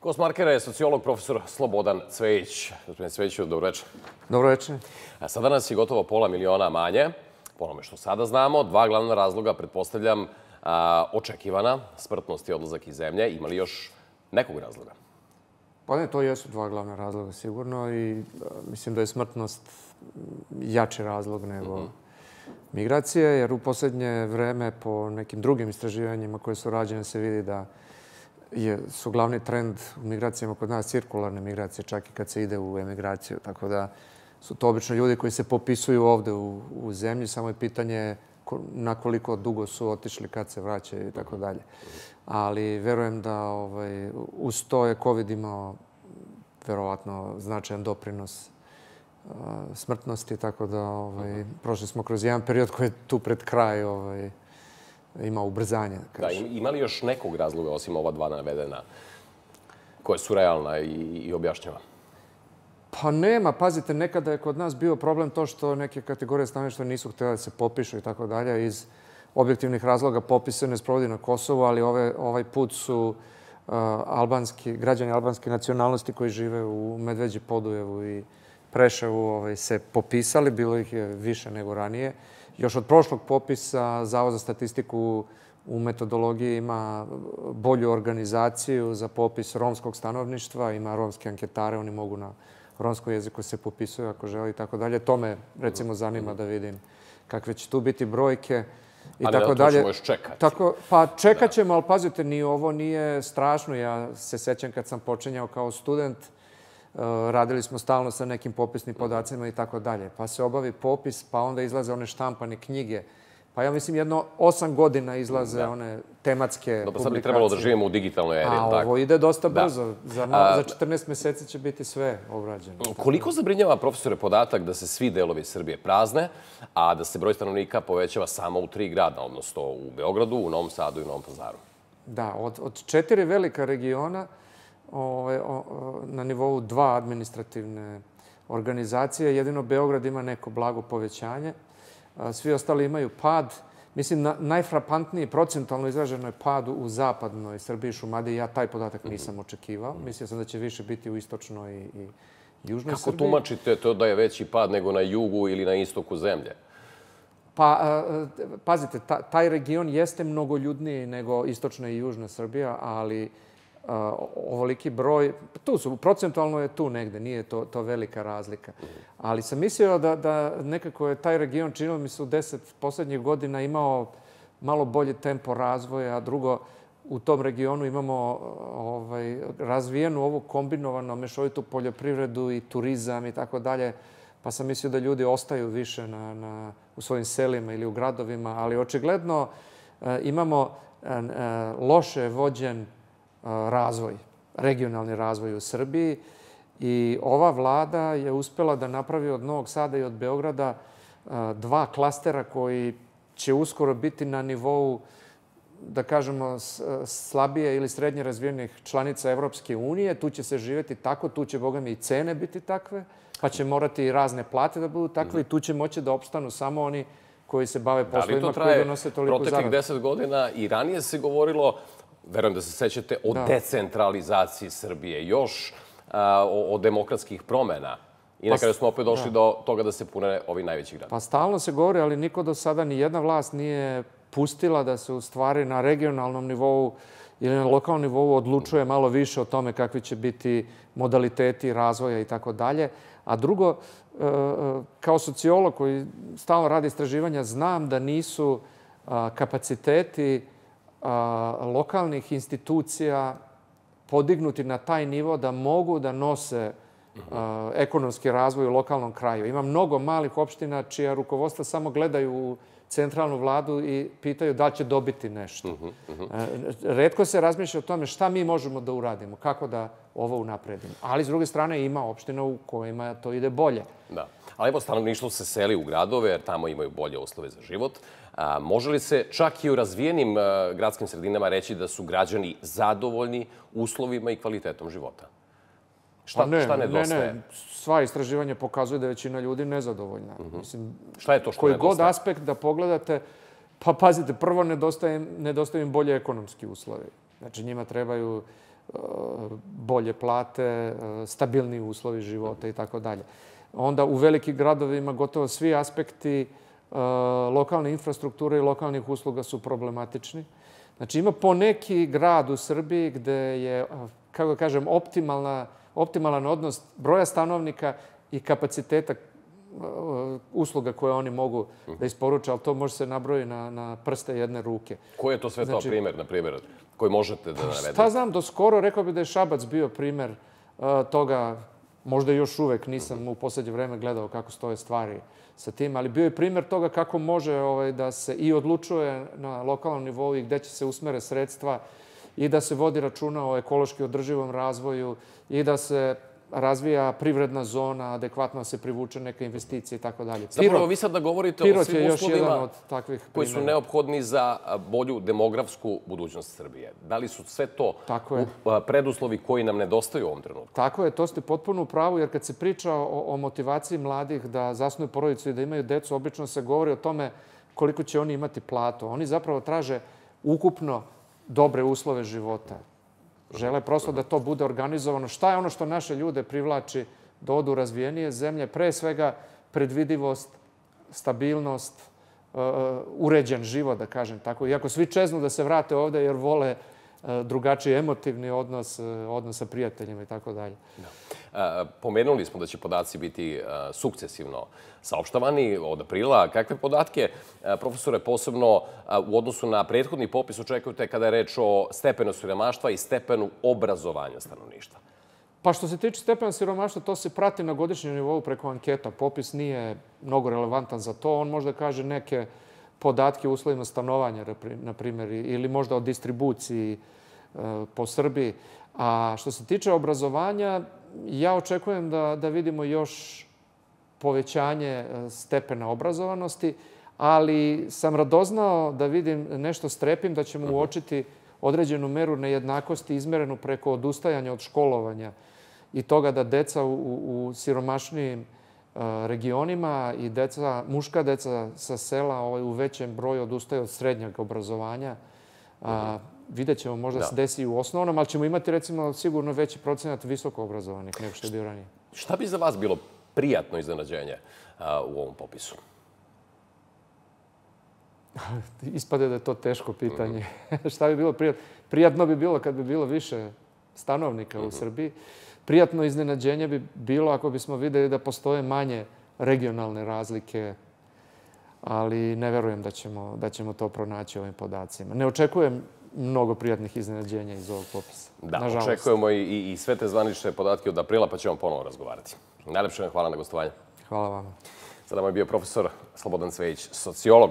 Gost Markera je sociolog profesor Slobodan Cvejić. Gospodine Cvejiću, dobro večer. Dobro večer. Sada nas je gotovo pola miliona manje, po onome što sada znamo. Dva glavna razloga, pretpostavljam, očekivana smrtnost i odlazak iz zemlje. Ima li još nekog razloga? Pa ne, to jesu dva glavna razloga sigurno i mislim da je smrtnost jači razlog nego migracije, jer u posljednje vreme po nekim drugim istraživanjima koje su rađene se vidi da su glavni trend u migracijama kod nas cirkularne migracije, čak i kad se ide u emigraciju. Tako da su to obično ljudi koji se popisuju ovde u zemlji, samo je pitanje na koliko dugo su otišli, kad se vraćaju i tako dalje. Ali verujem da uz to je COVID imao verovatno značajan doprinos smrtnosti, tako da prošli smo kroz jedan period koji je tu pred kraj ima ubrzanje. Da, ima li još nekog razloga osim ova dva navedena koja su realna i objašnjava? Pa nema. Pazite, nekada je kod nas bio problem to što neke kategorije stanovništva nisu htjele da se popišu i tako dalje. Iz objektivnih razloga popis se ne sprovodi na Kosovu, ali ovaj put su građani albanske nacionalnosti koji žive u Medveđi, Podujevu i Preševu se popisali. Bilo ih je više nego ranije. Još od prošlog popisa Zavod za statistiku u metodologiji ima bolju organizaciju za popis romskog stanovništva. Ima romske anketare, oni mogu na romskom jeziku se popisuju ako žele i tako dalje. To me recimo zanima da vidim kakve će tu biti brojke i tako dalje. Ali na to ćemo još čekati. Pa čekat ćemo, ali pazite, ni ovo nije strašno. Ja se sećam kad sam počinjao kao student, radili smo stalno sa nekim popisnim podacima i tako dalje. Pa se obavi popis, pa onda izlaze one štampane knjige. Pa ja mislim jedno 8 godina izlaze one tematske publikacije. Dobro, sad bi trebalo da živimo u digitalnoj eri. A ovo ide dosta brzo. Za 14 meseci će biti sve obrađeno. Koliko zabrinjava, profesore, podatak da se svi delovi Srbije prazne, a da se broj stanovnika povećava samo u 3 grada, odnosno u Beogradu, u Novom Sadu i u Novom Pazaru? Da, od 4 velika regiona na nivou 2 administrativne organizacije. Jedino Beograd ima neko blago povećanje. Svi ostali imaju pad. Mislim, najfrapantniji procentualno izraženo je pad u zapadnoj Srbiji, Šumadiji. Ja taj podatak nisam očekivao. Mislio sam da će više biti u istočnoj i južnoj Srbiji. Kako tumačite to da je veći pad nego na jugu ili na istoku zemlje? Pa, pazite, taj region jeste mnogoljudniji nego istočna i južna Srbija, ali ovoliki broj, procentualno je tu negde, nije to velika razlika. Ali sam mislio da nekako je taj region, činilo mi se u 10 poslednjih godina, imao malo bolji tempo razvoja, a drugo, u tom regionu imamo razvijenu ovu kombinovanu mešovitu poljoprivredu i turizam i tako dalje, pa sam mislio da ljudi ostaju više u svojim selima ili u gradovima, ali očigledno imamo loše vođen razvoj, regionalni razvoj u Srbiji i ova vlada je uspela da napravi od Novog Sada i od Beograda 2 klastera koji će uskoro biti na nivou, da kažemo, slabije ili srednje razvijenih članica Evropske unije. Tu će se živjeti tako, tu će, boga mi, i cene biti takve, pa će morati i razne plate da budu takve i tu će moći da opstanu samo oni koji se bave poslovima koji donose toliko zaradu. Proteklih 10 godina i ranije se govorilo, verujem da se sećate, o decentralizaciji Srbije, još o demokratskih promjena. I na kraju smo opet došli do toga da se pune ovi najveći gradovi. Pa stalno se govori, ali niko do sada, ni jedna vlast nije pustila da se u stvari na regionalnom nivou ili na lokalnom nivou odlučuje malo više o tome kakvi će biti modaliteti razvoja i tako dalje. A drugo, kao sociolog koji stalno radi istraživanja, znam da nisu kapaciteti lokalnih institucija podignuti na taj nivo da mogu da nose ekonomski razvoj u lokalnom kraju. Ima mnogo malih opština čija rukovodstva samo gledaju u centralnu vladu i pitaju da li će dobiti nešto. Retko se razmišlja o tome šta mi možemo da uradimo, kako da ovo unapredimo. Ali, s druge strane, ima opština u kojima to ide bolje. Da. Ali evo, stanovništvo se seli u gradove, jer tamo imaju bolje uslove za život. Može li se čak i u razvijenim gradskim sredinama reći da su građani zadovoljni uslovima i kvalitetom života? Šta nedostaje? Ne. Sva istraživanja pokazuju da je većina ljudi nezadovoljna. Šta je to što koji nedostaje? god aspekt da pogledate, pa pazite, prvo nedostaju im bolje ekonomski uslovi. Znači njima trebaju bolje plate, stabilniji uslovi života i tako dalje. Onda u velikim gradovima gotovo svi aspekti lokalne infrastrukture i lokalnih usluga su problematični. Znači ima poneki grad u Srbiji gde je, kako da kažem, optimalan odnos broja stanovnika i kapaciteta usluga koje oni mogu da isporuče, ali to može se nabrojiti na prste jedne ruke. Koji je to sve to primjer, na primjer, koji možete da navedete? Šta znam, do skoro rekao bih da je Šabac bio primjer toga, možda još uvek nisam u poslednje vreme gledao kako stoje stvari sa tim, ali bio je primjer toga kako može da se i odlučuje na lokalnom nivou i gde će se usmere sredstva i da se vodi računa o ekološki održivom razvoju i da se razvija privredna zona, adekvatno se privuče neka investicija i tako dalje. Zapravo, vi sad da govorite o svim uslovima koji su neophodni za bolju demografsku budućnost Srbije. Da li su sve to preduslovi koji nam nedostaju u ovom trenutku? Tako je, to ste potpuno u pravu, jer kad se priča o motivaciji mladih da zasnuju porodicu i da imaju decu, obično se govori o tome koliko će oni imati platu. Oni zapravo traže ukupno dobre uslove života. Žele prosto da to bude organizovano. Šta je ono što naše ljude privlači da odu u razvijenije zemlje? Pre svega predvidivost, stabilnost, uređen život, da kažem tako. Iako svi čeznu da se vrate ovde jer vole drugačiji emotivni odnos sa prijateljima i tako dalje. Pomenuli smo da će podaci biti sukcesivno saopštavani od aprila. Kakve podatke, profesore, posebno u odnosu na prethodni popis očekujete kada je reč o stepenu siromaštva i stepenu obrazovanja stanovništva? Pa što se tiče stepena siromaštva, to se prati na godišnjem nivou preko anketa. Popis nije mnogo relevantan za to. On možda kaže neke podatke o uslovima stanovanja, na primjer, ili možda o distribuciji po Srbiji. A što se tiče obrazovanja, ja očekujem da vidimo još povećanje stepena obrazovanosti, ali sam radoznao da vidim nešto strepim, da ćemo uočiti određenu meru nejednakosti izmerenu preko odustajanja od školovanja i toga da deca u siromašnijim regionima i muška deca sa sela u većem broju odustaju od srednjeg obrazovanja. Vidjet ćemo, možda se desi i u osnovnom, ali ćemo imati, recimo, sigurno veći procenat visoko obrazovanih nego što je bio ranije. Šta bi za vas bilo prijatno iznenađenje u ovom popisu? Ispade da je to teško pitanje. Šta bi bilo prijatno? Prijatno bi bilo kad bi bilo više stanovnika u Srbiji. Prijatno iznenađenje bi bilo ako bismo videli da postoje manje regionalne razlike, ali ne verujem da ćemo to pronaći ovim podacima. Ne očekujem mnogo prijatnih iznenađenja iz ovog popisa. Da, očekujemo i sve te zvanične podatke od aprila, pa ćemo ponovo razgovarati. Najlepše vam hvala na gostovanje. Hvala vam. Sada nam je bio profesor Slobodan Cvejić, sociolog.